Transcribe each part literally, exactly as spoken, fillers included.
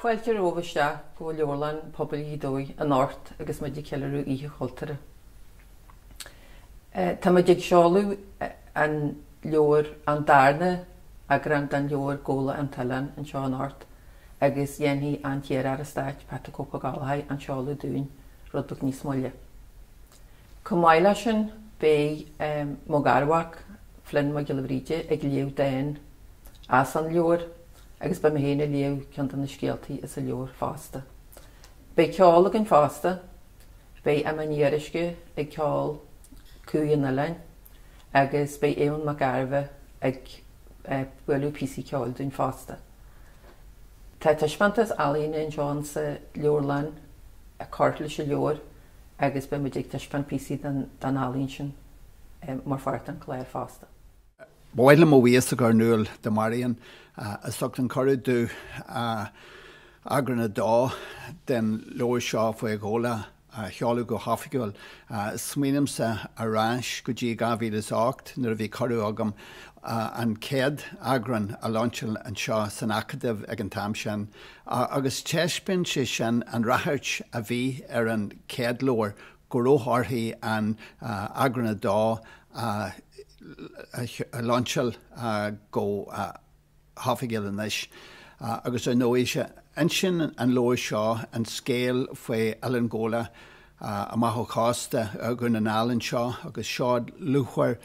Fáilte romhaibh isteach go Leabharlann Pobail Ghaoth Dobhair anocht agus muid ag ceiliúradh Oíche Chultúrtha. Tá muid ag seoladh an leabhar an darna eagrán den leabhar Gabhla an tOileán anseo anocht agus dhéanfaidh an t-iar-aire stáit Patrick Ó Gallchóir an seoladh dúinn rud beag níos moille. Chomh maith leis sin beidh mo gharmhac Flynn Mac Giolla Bhríde ag léamh dán as an leabhar agus beidh mé féin ag léamh ceann de na scéaltaí as an leabhar fosta. Beidh ceol againn fosta, beidh Emma Ní Fhíoruisce ag ceol Cumhaidh an Oileáin agus beidh Eoin Mac Gairbheith ag bualadh píosaí ceoil dúinn fosta. Tá taispeántas ealaíne anseo sa leabharlann ag cur leis an leabhar agus beidh muid ag taispeáint píosaí den ealaín sin mar pháirt den chlár fosta. Ba mhaith liom mo bhuíochas a chur in iúl do Marion as ucht an cuireadh domh eagrán a dó den leabhar seo faoi Ghabhla a sheoladh go hoifigiúil. Smaoinímse ar ais go dtí dhá mhíle is ocht nuair a bhí cuireadh agam an chéad eagrán a lainseáil anseo san Acadamh ag an t-am sin, agus taispeáin sé sin an ráchairt a bhí ar an chéad leabhar go raibh uirthi an eagrán a dó a lainseáil go hoifigiúil anois. Agus ar ndóigh, insíonn an leabhar seo an scéal faoi Oileán Ghabhla amach ó chósta Dhún na nGall anseo agus seod luachmhar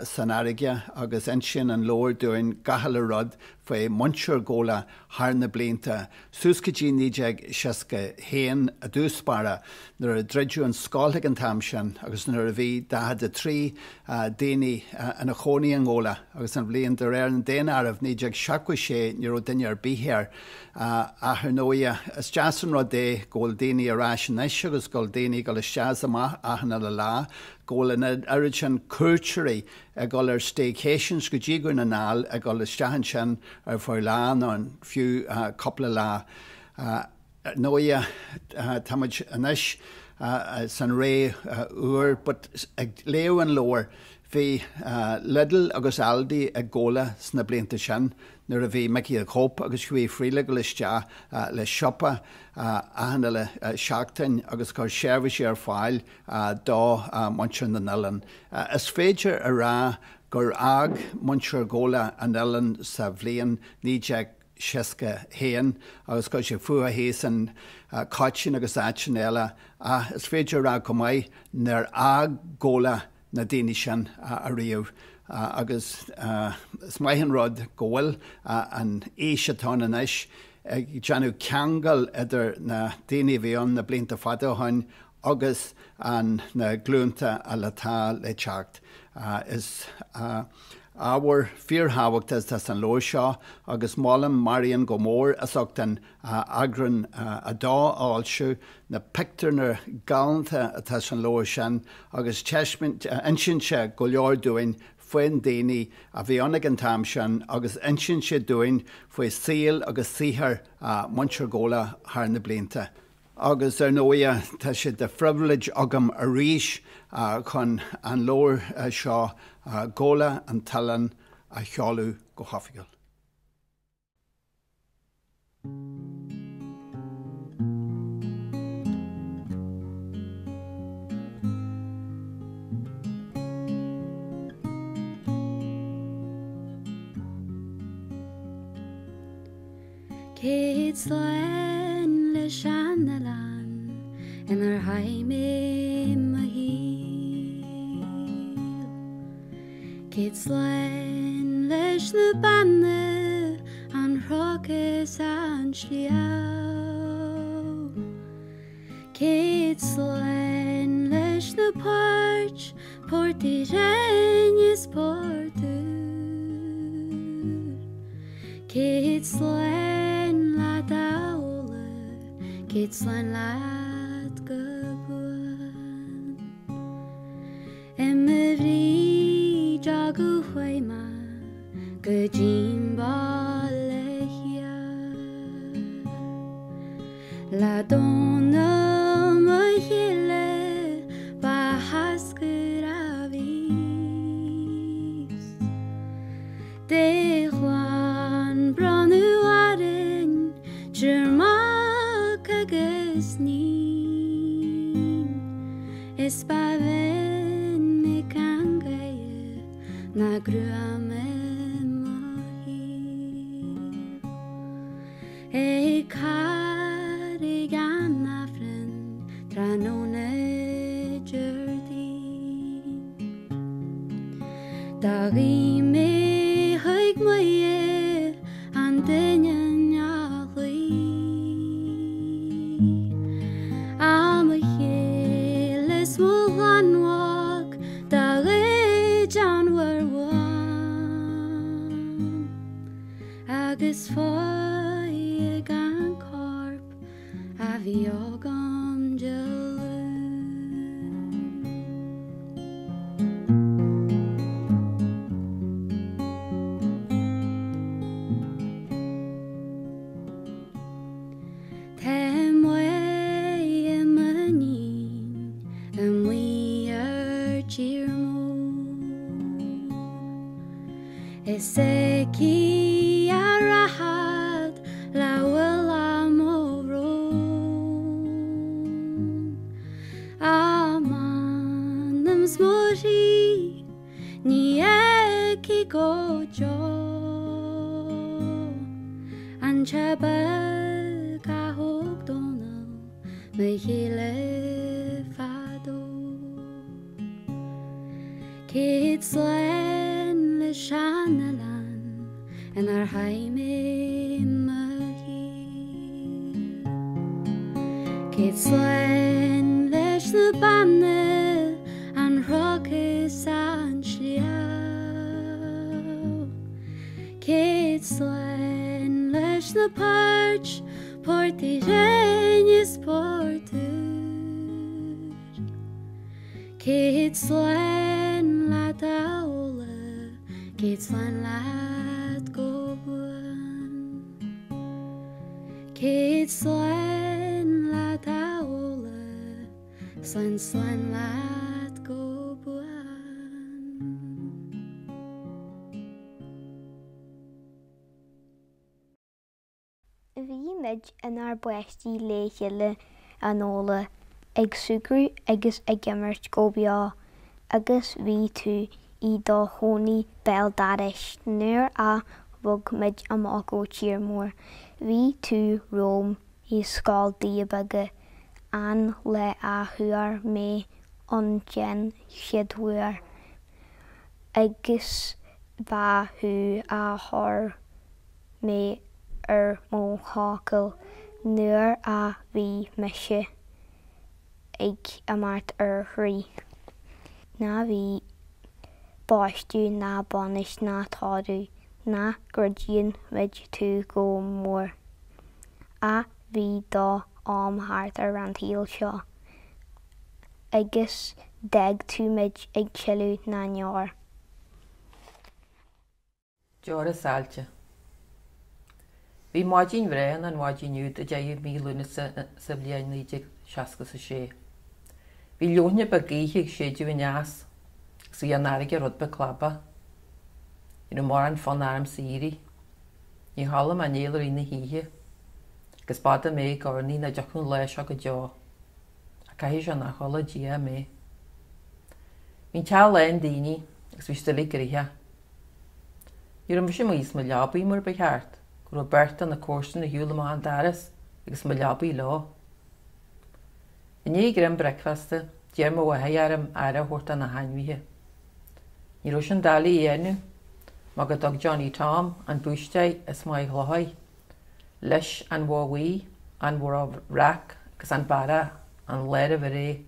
san fharraige agus insíonn an leabhar dúinn gach uile rud faoi mhuintir Ghabhla thar na blianta, suas go dtí naoi déag seasca haon i dtús báire nuair a druideadh an scoil ag an t-am sin agus nuair a bhí daichead a trí daoine ina chónaí i nGabhla agus an bhliain de réir an daonáirimh naoi déag seachtó sé ní raibh duine ar bith air. Ach ar ndóigh is deas an rud é go bhfuil daoine ar ais anois agus go bhfuil daoine ag dul isteach is amach achan uile lá, go bhfuil an oiread sin cuairteoirí ag dul ar staycations go dtí Dhún na nGall, ag dul isteach ansin ar feadh lá nó fiú cúpla lá. Ar ndóigh tá muid anois san ré úr but ag léamh an leabhair bhí Lidl agus Aldi ag Gabhla sna blianta sin nuair a bhí Mickey the Cope agus Hughie Friel ag dul isteach le siopa achan uile seachtain agus cur seirbhísí ar fáil do mhuintir na n-oileán. Is féidir a rá gur fhág muintir Ghabhla an oileán sa bhliain naoi déag seasca haon agus chuir sé fúthu thíos in Coitín agus áiteanna eile ach is féidir a rá chomh maith nár fhág Gabhla na daoine sin ariamh agus is maith an rud go bhfuil an aois atá ann anois ag déanamh ceangal idir na daoine a bhí ann na blianta fada ó shin agus an na glúnta atá le teacht. Is ábhar fíorthábhachtach atá san leabhar seo agus molaim Marion go mór as ucht an eagrán a dó a fhoilsiú, na pictiúrna galánta atá san leabhar sin agus insíonn sé go leor dúinn faoin daoine a bhí ann ag an t-am sin agus insíonn sé dúinn faoi saol agus saothar muintir Ghabhla thar na blianta. Agus ar ndóigh tá sé de phribhléid agam arís chun an leabhar seo Gabhla an tOileán a sheoladh go hoifigiúil. Céad slán leis an oileán inar chaith mé mo shaol. Céad slán leis na beanna, an chnoc is an sliabh. Céad slán leis na poirt, Port Uí Rinn is Port Úr. Céad slán leat a Ghabhla, céad slán leat go buan. I mo bhrídeog ó chuaigh mé go dtí'n baile thiar. Le Dónall mo chéile ba tháscaire a bhíos. De chlann bronnadh orainn triúr mac. Is ba mhinic an ghaoth 'na gruaim i mo thaobh. Ag Carraig an Aifrinn tráthnóna Déardaoin. Do ghuigh mé chuig Muire an duine neamhluí. A mo chéile is mo ghlanmhac do ghoid an mhuir bhán. Agus faigh an corp a bhí agam Dé Luain. Tá Muire m'iníon amuigh ar tír mór. Is aici a rachad le bhfuil mo bhrón. A m'anam 's mo chroí ní fheicfidh go deo an teach beag a thóg Dónall mo chéile fadó. Céad slán le sean-oileán inar chaith mé mo shaol. Céad slán leis na beanna an chnoc is an sliabh. Céad slán leis na poirt, Port Uí Rinn is Port Úr. Céad slán leat a Fhódhla, céad slán leat go buan. Céad slán leat a Fhódhla, slán slán leat go buan. Bhí muid inár bpáistí le chéile an Fhódhla, ag súgradh agus ag imirt go beo, agus bhí tú i do chónaí béal dorais nuair a bhog muid amach ó Tír Mór. Bhí tú romham i scoil Doire Beaga an lá a chuaigh mé ann den chéad uair, agus ba thú a chuir mé ar mo thrucail nuair a bhí mise ag imeacht ar thraí. Ná bhí baisteadh ná bainis ná tórramh ná gcreideann muid tú go mór. Ach bhí do am thart ar an tsaol seo, agus d'fhág tú muid ag sileadh na ndeor. Deora saillte. Bhí maidin bhreá an mhaidin úd a deichiú mí Lúnasa sa bhliain naoi déag seasca a sé. Bhí leoithne beag gaoithe ag séideadh aneas agus bhí an fharraige rud beag clabach. Ní raibh mórán fonn ormsa éirí. Níor chodlaigh mé néal i rith na hoíche, agus b'fhada mé ag urnaí nach dtiocfadh an lá seo go deo. Ach caithfidh sé nár chuala Dia mé. Bhí an teach lán daoine agus bhí siad uilig gnoitheach. Ní raibh mise amuigh as mo leabaidh mar ba cheart, go raibh beirt de na comharsana ar shiúl amach an doras agus mo leabaidh leo. I ndiaidh greim bricfeasta, d'iarr mo mháthair orm aire a thabhairt do na hainmhithe. Ní raibh sin doiligh a dhéanamh, mar go dtug Johnny Tom an búistéir as Maigh Chlóidh leis an bhó bhuí, an bhó bhreac agus an barra an lá roimh ré,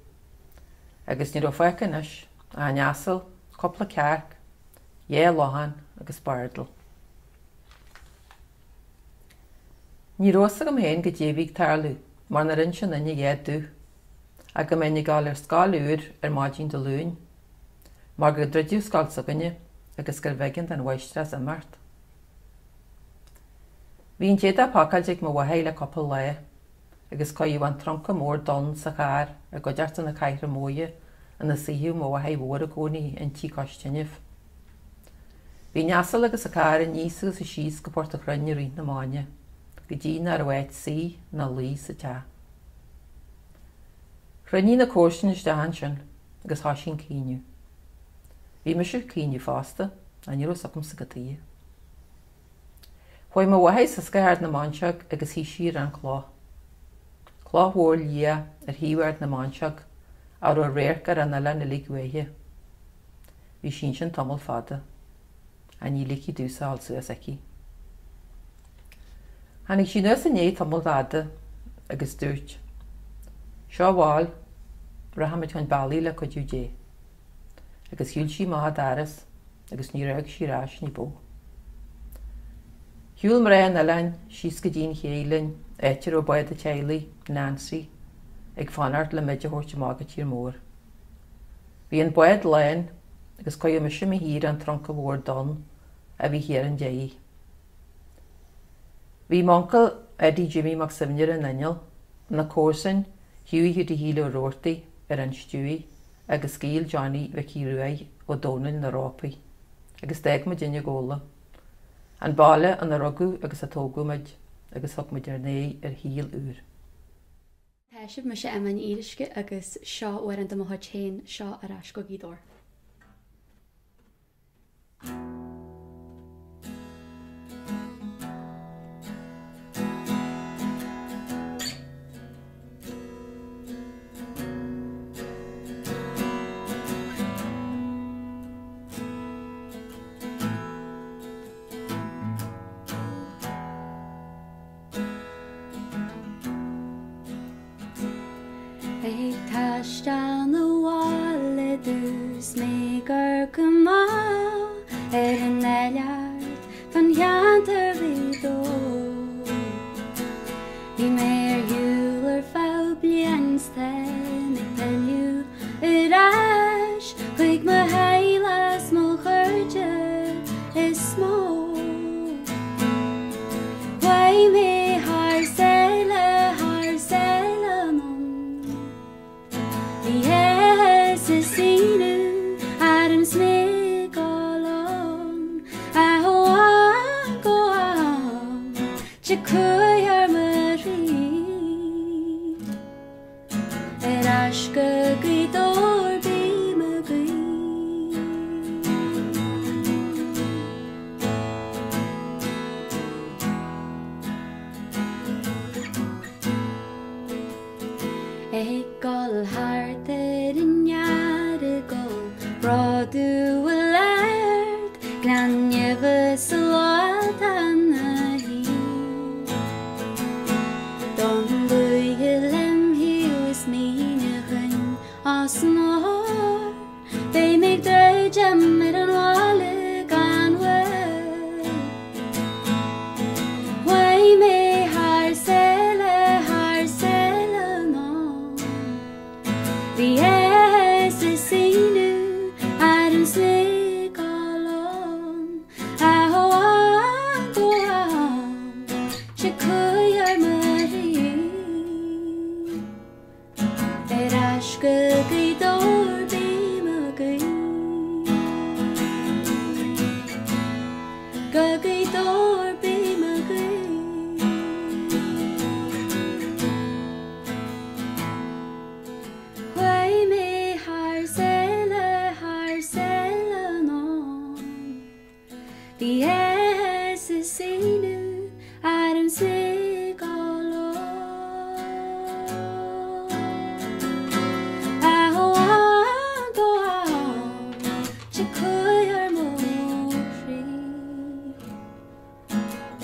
agus ní raibh fágtha anois ach an asal, cúpla cearc, dhá lachain agus bardal. Ní raibh fhios agam féin goidé a bhí ag tarlú mar nár inis aon duine a dhath domh, ach go mbeinn ag dul ar scoil úr ar maidin Dé Luain, mar gur druideadh scoil s'againne agus gurbh éigean don mháistreás imeacht. Bhí an t-éadach pacáilte ag mo mháthair le cúpla lá agus cuireadh an trunca mór donn sa charr i gcuideachta na Cathrach Móire ina suíodh mo mháthair mhór i gcónaí inti cois tinidh. Bhí an asal agus an carr aníos agus síos go Port a' Chrainn i rith na maidine, go dtí nach raibh áit suí ná luí sa teach. Chruinnigh na comharsana isteach ansin agus thoisigh an caoineadh. Bhí mise ag caoineadh fosta, ach ní raibh fhios agamsa cad tuighe. Chuaigh mo mháthair suas go hArd na Móinseach agus shuigh sí ar an chloch. Cloch mhór liath ar thaobh Ard na Móinseach a raibh radharc ar an oileán uilig uaithi. Bhí sí ansin tamall fada. Ach ní ligfí domhsa a dhul suas aici. Tháinig sí anuas i ndiaidh tamaill fhada agus dúirt, Seo abhaile, rachaimid chun bealaigh le cuidiú Dé. Agus shiúil sí amach an doras agus níor amharc sí ar ais ní ba mhó. Shiúil mná an oileáin síos go dtí an ché linn, áit a raibh bád an teaghlaigh, Nancy, ag fanacht le muid a thabhairt amach go tír mór. Bhí an bád lán agus cuireadh mise i mo shuí ar an trunca mhór donn a bhí thiar an deiridh. Bhí m'uncail Eddie Jimmy Mac Suibhne ar an inneall, na comharsain Hughie Hiúdaí Shíle Ó Rabhartaigh ar an stiúir agus Gaol Johnny Mhicí Ruaidh Ó Domhnaill na rópaí, agus d'fhág muidinne Gabhla, an baile ina rugadh agus a tógadh muid, agus thug muid ár n-aghaidh ar shaol úr. Tá sibh, mise Emma Ní Fhíoruisce agus seo amhrán de mo chuid féin, seo Ar Ais go Gaoth Dobhair. Ag taisteal 'na bhaile dús mé gur cuma ar an oileán fan cheantar Ghaoth Dobhair. Bhí mé ar shiúl ar feadh bliain 's táim ag pilleadh ar ais chuig mo theaghlach 's mo chairde is mó. Chuaigh mé thar sáile, thar sáile anonn. Bhí áthas is ionadh orm 's mé ag dul ann. Ach ó am go ham tig cumhaidh ar mo chroí. Ar ais go Gaoth Dobhair bím ag guí. Ag dul thart ar an Earagail, Bródú a Ard, Gleann Neimhe sa lá atá ina shuí. Don dúiche lem thaobh is míne chuinn os mo chomhair, beidh mé ag druidim ar an bhaile gan mhoill. Chuaigh mé thar sáile, thar sáile anonn. Bhí áthas is ionadh orm 's mé ag dul ann. Ach ó am go ham tig cumhaidh ar mo chroí. Ar ais go Gaoth Dobhair bím ag guí. Go Gaoth Dobhair bím ag guí. Chuaigh mé thar sáile, thar sáile anonn. Bhí áthas is ionadh orm 's mé ag dul ann. Ach ó am go ham tig cumhaidh ar mo chroí.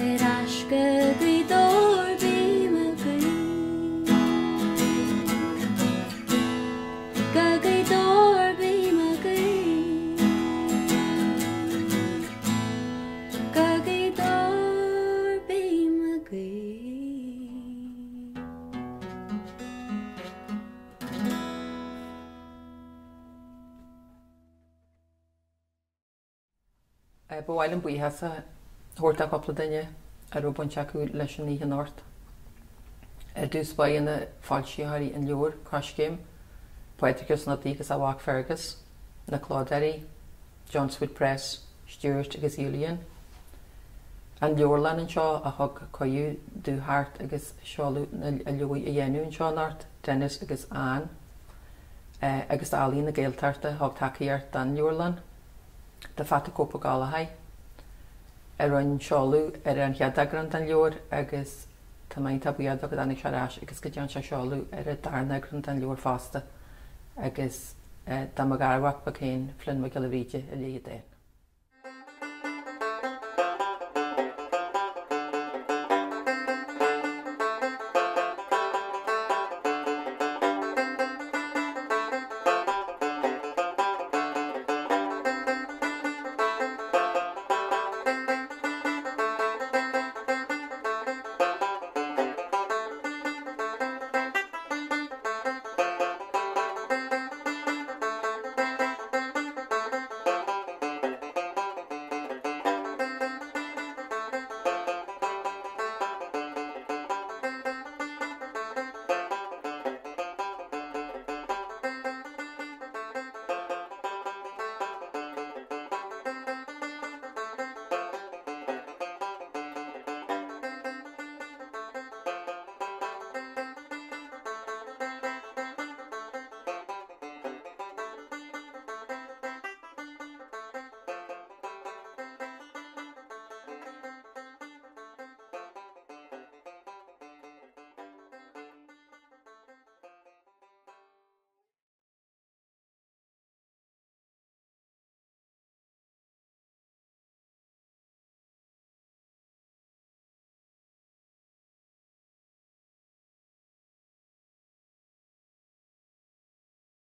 Ar ais go Gaoth Dobhair bím ag guí. Go Gaoth Dobhair bím ag guí. Go Gaoth Dobhair bím ag guí. Ba mhaith liom buíochas a thabhairt do chúpla duine a raibh baint acu leis an oíche anocht. Ar dtús báire na foilsitheoirí an leabhair, Coiscéim, Pádraig Ó Snodaigh agus a mhac Fergus, na clódóirí, Johnswood Press, Stuart agus Julian, an leabharlann anseo a thug cuireadh domh theacht agus seoladh na leabhair a dhéanamh anseo anocht, Dennis agus Anne, agus d'Ealaín na Gaeltachta a thug tacaíocht don leabharlann, do Phat 'The Cope Ó Gallchóir a rinne seoladh ar an chéad eagrán den leabhar agus tá mé iontach buíoch dó go dtáinig sé ar ais agus go dtearn sé seoladh ar an darna eagrán den leabhar fosta agus do mo gharmhac beag féin, Flynn Mac Giolla Bhríde, a léigh an dán.